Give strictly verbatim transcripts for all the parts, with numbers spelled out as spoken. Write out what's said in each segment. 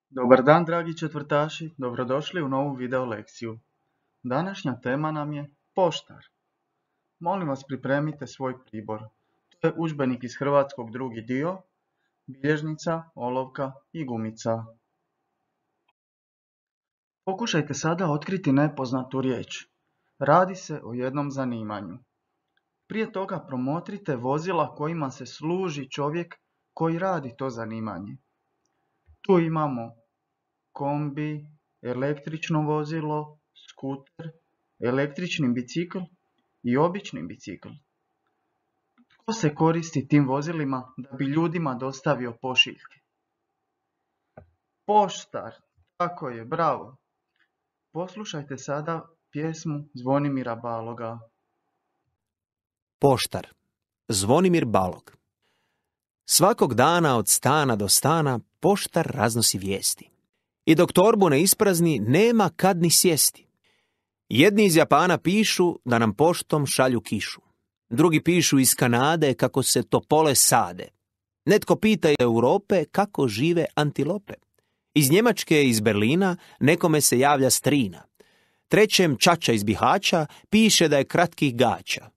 Dobar dan, dragi četvrtaši, dobrodošli u novu video lekciju. Današnja tema nam je poštar. Molim vas, pripremite svoj pribor. To je udžbenik iz hrvatskog drugi dio, bilježnica, olovka i gumica. Pokušajte sada otkriti nepoznatu riječ. Radi se o jednom zanimanju. Prije toga promotrite vozila kojima se služi čovjek koji radi to zanimanje. Tu imamo kombi, električno vozilo, skuter, električni bicikl i obični bicikl. Tko se koristi tim vozilima da bi ljudima dostavio pošiljke? Poštar, tako je, bravo. Poslušajte sada pjesmu Zvonimira Baloga. Poštar, Zvonimir Balog. Svakog dana od stana do stana poštar raznosi vijesti. I dok torbu ne isprazni, nema kad ni sjesti. Jedni iz Japana pišu da nam poštom šalju kišu. Drugi pišu iz Kanade kako se topole sade. Netko pita iz Europe kako žive antilope. Iz Njemačke i iz Berlina nekome se javlja strina. Trećem čača iz Bihaća piše da je kratkih gaća.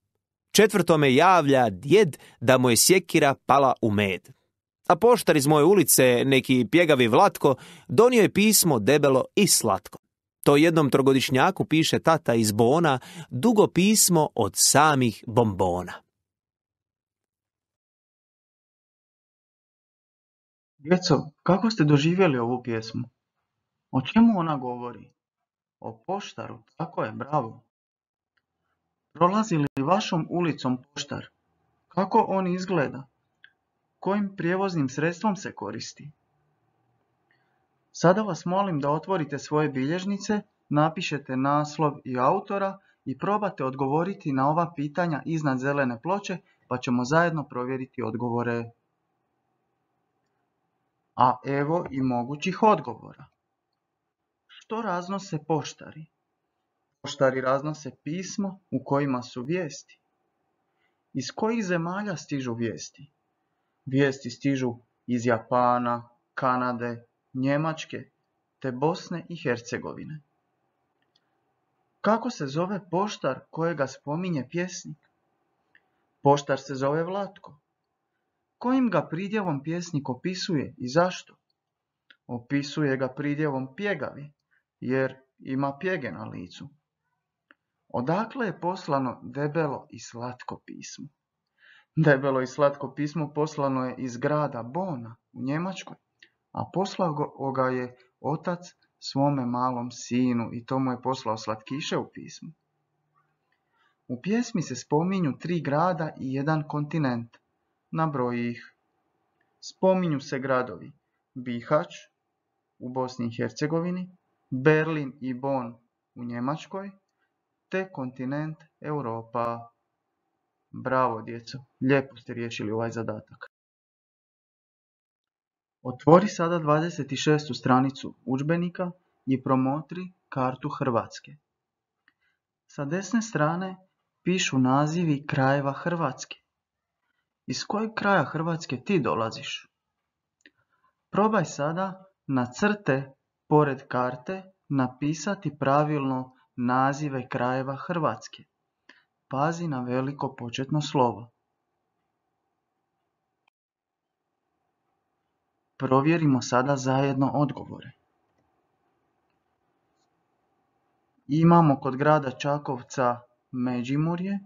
Četvrtome javlja djed da mu je sjekira pala u med. A poštar iz moje ulice, neki pjegavi Vlatko, donio je pismo debelo i slatko. To jednom trogodišnjaku piše tata iz Bona, dugo pismo od samih bombona. Djeco, kako ste doživjeli ovu pjesmu? O čemu ona govori? O poštaru, tako je, bravo. Prolazi li vašom ulicom poštar? Kako on izgleda? Kojim prijevoznim sredstvom se koristi? Sada vas molim da otvorite svoje bilježnice, napišete naslov i autora i probate odgovoriti na ova pitanja iznad zelene ploče, pa ćemo zajedno provjeriti odgovore. A evo i mogućih odgovora. Što raznose poštari? Poštari raznose pismo u kojima su vijesti. Iz kojih zemalja stižu vijesti? Vijesti stižu iz Japana, Kanade, Njemačke te Bosne i Hercegovine. Kako se zove poštar kojega spominje pjesnik? Poštar se zove Vlatko. Kojim ga pridjevom pjesnik opisuje i zašto? Opisuje ga pridjevom pjegavi, jer ima pjege na licu. Odakle je poslano debelo i slatko pismo? Debelo i slatko pismo poslano je iz grada Bona u Njemačkoj, a poslao ga je otac svome malom sinu i to mu je poslao slatkiše u pismu. U pjesmi se spominju tri grada i jedan kontinent. Nabroji ih. Spominju se gradovi Bihać u Bosni i Hercegovini, Berlin i Bonn u Njemačkoj, te kontinent Europa. Bravo, djeco, lijepo ste riješili ovaj zadatak. Otvori sada dvadeset šestu stranicu udžbenika i promotri kartu Hrvatske. Sa desne strane pišu nazivi krajeva Hrvatske. Iz kojeg kraja Hrvatske ti dolaziš? Probaj sada na crte pored karte napisati pravilno nazive krajeva Hrvatske. Pazi na veliko početno slovo. Provjerimo sada zajedno odgovore. Imamo kod grada Čakovca Međimurje,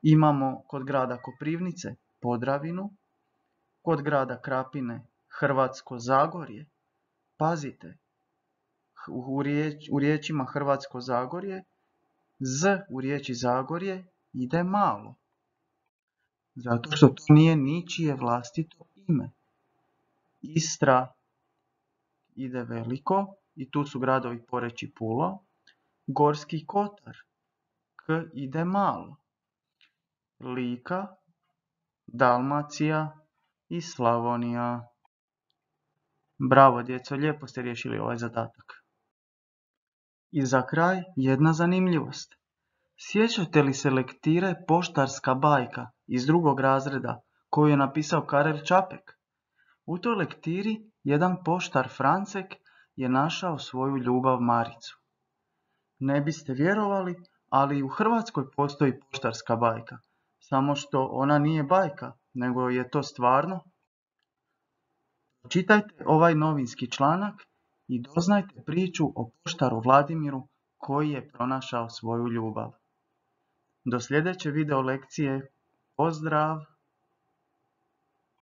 imamo kod grada Koprivnice Podravinu, kod grada Krapine Hrvatsko Zagorje. Pazite, u, riječ, u riječima Hrvatsko Zagorje, z u riječi Zagorje ide malo, zato što to nije ničije vlastito ime. Istra ide veliko i tu su gradovi Poreč i Pula. Gorski Kotar, k ide malo. Lika, Dalmacija i Slavonija. Bravo, djeco, lijepo ste riješili ovaj zadatak. I za kraj jedna zanimljivost. Sjećate li se lektire Poštarska bajka iz drugog razreda koju je napisao Karel Čapek? U toj lektiri jedan poštar Francek je našao svoju ljubav Maricu. Ne biste vjerovali, ali i u Hrvatskoj postoji poštarska bajka, samo što ona nije bajka, nego je to stvarno. Čitajte ovaj novinski članak i doznajte priču o poštaru Vladimiru koji je pronašao svoju ljubav. Do sljedeće video lekcije, pozdrav!